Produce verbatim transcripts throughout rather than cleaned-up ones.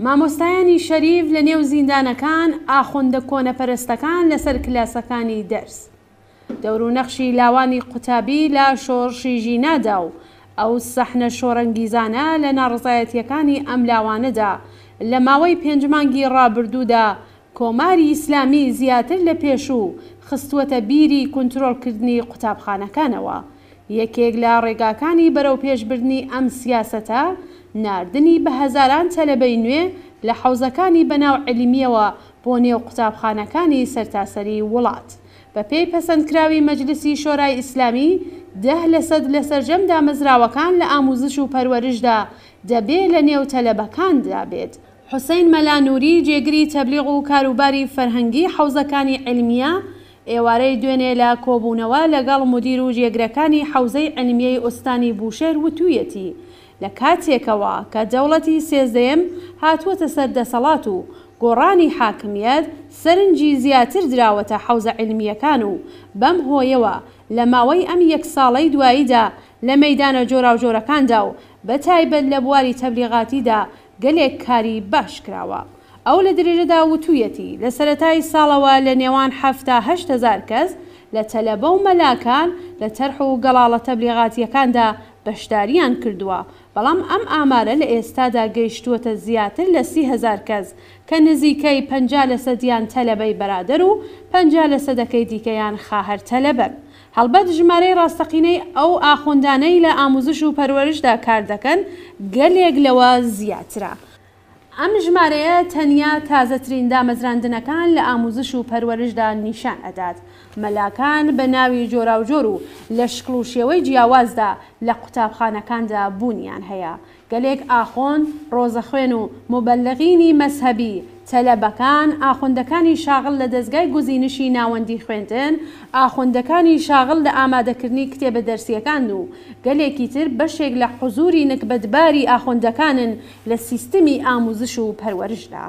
مامۆستایانی شەریف لە نێو زیندانەکان، ئاخوندە کۆنەپەرستەکان لەسەر کلاسەکانی دەرس، دەور و نەخشی لاوانی قوتابی لە شۆڕشی ژینادا و ئەو سەحنە شۆڕەنگیزانە لە ناڕەزایەتیەکانی ئەم لاوانەدا لە ماوەی پێنج مانگی ڕابردوودا کۆماری ئیسلامی زیاتر لە پێشوو خستووەتە بیری کونترۆڵکردنی قوتابخانەکانەوە. یەکێک لە ڕێگاکانی بەرەو پێشبردنی ئەم سیاسەتە ناردنی بە هەزاران تەلەبەی نوێ لە حەوزەکانی بەناو عیلمیەوە بۆ نێو قوتابخانەکانی سەرتاسەری وڵات. بە پێی پەسەندکراوی مەجلسی شۆرای ئیسلامی دە لەسەد لە سەرجەم دامەزراوەکان لە ئاموزش و پەروەرشدا دەبێ لە نێو تەلەبەکاندا بێت. حوسەین مەلا نوری جێگری تەبلیغ و کاروباری فەرهەنگی حەوزەکانی عیلمیە ئێوارەی دوێنێ لە کۆبوونەوە لەگەڵ مودیر و جێگرەکانی حەوزەی عیلمیەی ئوستانی بوشێر وتوویەتی لە کاتێکەوە کە دەوڵەتی سێزدەیەم هاتووەتە سەر دەسەڵات و گۆڕانی حاکمیەت سەرنجی زیاتر دراوەتە حەوزە عیلمیەکان و بەم هۆیەوە لە ماوەی ئەم یەک ساڵەی دواییدا لە مەیدانە جۆراوجۆرەکاندا و بە تایبەت لە بواری تەبلیغاتیدا گەلێک کاری باش کراوە. ئەو لە درێژەدا وتوویەتی لە سەرەتای ساڵەوە لە نێوان حەفتا هەشت هەزار کەس لە تەلەبە و مەلاکان لە تەرح و گەڵاڵە تەبلیغاتیەکاندا بەشداریان کردووە، بەڵام ئەم ئامارە لە ئێستادا گەیشتووەتە زیاتر لە سی هەزار کەس کە نزیکەی پەنجا لەسەدیان تەلەبەی بەرادەر و پەنجا لەسەدەکەی دیکەیان خاهەر تەلەبەن. هەڵبەت ژمارەی ڕاستەقینەی ئەو ئاخوندانەی لە ئاموزش و پەروەرشدا کار دەکەن گەلێک لەوە زیاترە. ئەم ژمارەیە تەنیا تازەترین دامەزراندنەکان لە ئاموزش و پەروەرشدا نیشان ئەدات. مەلاکان بە ناوی جۆراوجۆر و لە شکڵ و شێوەی جیاوازدا لە قوتابخانەکاندا بوونیان هەیە. گەلێک ئاخوند، ڕۆزەخوێن و موبەلغینی مەزهەبی، تەلەبەکان، ئاخوندەکانی شاغڵ لە دەزگای گزینشی ناوەندی خوێندن، ئاخوندەکانی شاغڵ لە ئامادەکردنی کتێبە دەرسیەکان و گەلێکی تر بەشێک لە حوزوری نکبەتباری ئاخوندەکانن لە سیستمی ئاموزش و پەروەرشدا.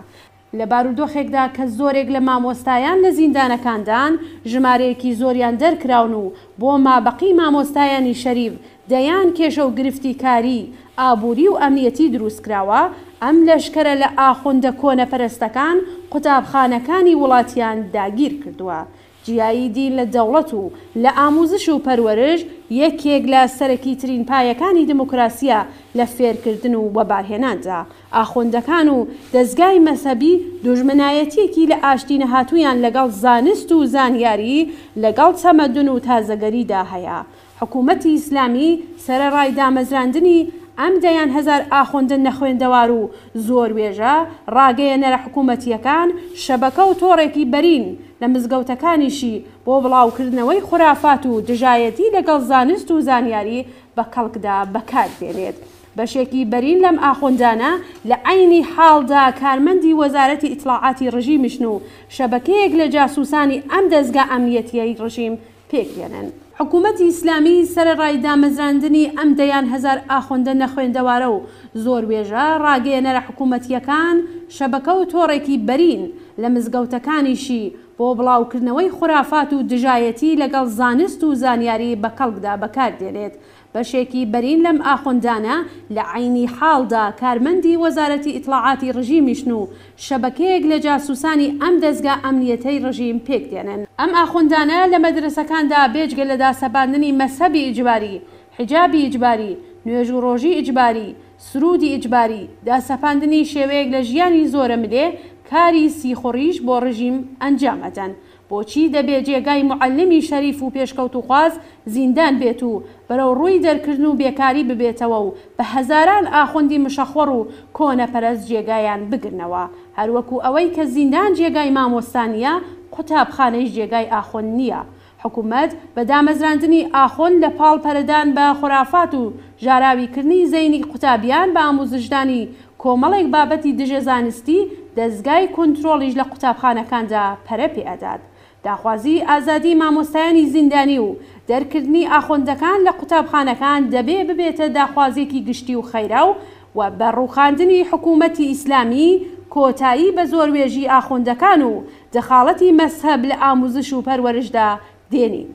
لە بارودۆخێکدا کە زۆرێک لە مامۆستایان لە زیندانەکاندان، ژمارەیەکی زۆریان دەرکراون و بۆ مابەقی مامۆستایانی شەریف دەیان کێشە و گرفتی کاری، ئابووری و ئەمنیەتی دروستکراوە، ئەم لەشکەرە لە ئاخوندە کۆنەپەرستەکان قوتابخانەکانی وڵاتیان داگیر کردووە. جیایی دین لە دەوڵەت و لە ئاموزش و پەروەرش یەکێک لە سەرەکیترین پایەکانی دموکراسیە لە فێرکردن و وەبارهێناندا. ئاخوندەکان و دەزگای مەزهەبی دوژمنایەتیەکی لە ئاشتی نەهاتوویان لەگەڵ زانست و زانیاری لەگەڵ تەمەدون و تازەگەریدا هەیە. حکوومەتی ئیسلامی سەرەڕای دامەزراندنی ئەم دەیان هەزار ئاخوندە نەخوێندەوار و زۆر وێژە ڕاگەیەنەرە حکوومەتیەکان شەبەکە و تۆڕێکی بەرین لە مزگەوتەکانیشی بۆ بڵاوکردنەوەی خورافات و دژایەتی لەگەڵ زانست و زانیاری بە کەڵکدا بەکار دێنێت. بەشێکی بەرین لەم ئاخوندانە لە عەینی حاڵدا کارمەندی وەزارەتی ئیتڵاعاتی ڕژیمیشن و شەبەکەیەک لە جاسوسانی ئەم دەزگا ئەمنیەتیەی ڕژیم پێک دێنن. حکوومەتی ئیسلامی سەرەڕای دامەزراندنی ئەم دەیان هەزار ئاخوندە نەخوێندەوارە و زۆر وێژە ڕاگەیەنەرە حکوومەتیەکان شەبەکە و تۆڕێکی بەرین لە مزگەوتەکانیشی بۆ بڵاوکردنەوەی خورافات و دژایەتی لەگەڵ زانست و زانیاری بە کەڵکدا بەکار دێنێت. بەشێکی بەرین لەم ئاخوندانە لە عەینی حاڵدا کارمەندی وەزارەتی ئیتڵاعاتی ڕژیمیشن و شەبەکەیەک لە جاسوسانی ئەم دەزگا ئەمنیەتەی ڕژیم پێک دێنن. ئەم ئاخوندانە لە مەدرەسەکاندا بێجگە لە داسەپاندنی مەزهەبی ئیجباری، حیجابی ئیجباری، نوێژ و ڕۆژی ئیجباری، سرودی ئیجباری، داسەپاندنی شێوەیەک لە ژیانی زۆرەملێ، کاری سیخوڕیش بۆ ڕژیم ئەنجام ئەدەن. بۆچی دەبێ جێگای موعەلمی شەریف و پێشکەوتوخواز زیندان بێت و بەرەو ڕووی دەرکردن و بێکاری ببێتەوە و بە هەزاران ئاخوندی مشەخۆڕ و کۆنەپەرست جێگایان بگرنەوە؟ هەروەکو ئەوەی کە زیندان جێگای مامۆستا نییە، قوتابخانەیش جێگای ئاخوند نییە. حکوومەت بە دامەزراندنی ئاخوند لە پاڵ پەرەدان بە خورافات و ژاراویکردنی زەینی قوتابیان بە ئاموزشدانی کۆمەڵێک بابەتی دژە زانستی، دەزگای کونترۆڵیش لە قوتابخانەکاندا پەرە پێ ئەدات. داخوازی ئازادی مامۆستایانی زیندانی و دەرکردنی ئاخوندەکان لە قوتابخانەکان دەبێ ببێتە داخوازیەکی گشتی و خەیرا و و بە ڕووخاندنی حکوومەتی ئیسلامی کۆتایی بە زۆروێژی ئاخوندەکان و دەخاڵەتی مەزهەب لە ئاموزش و پەروەرشدا دێنین.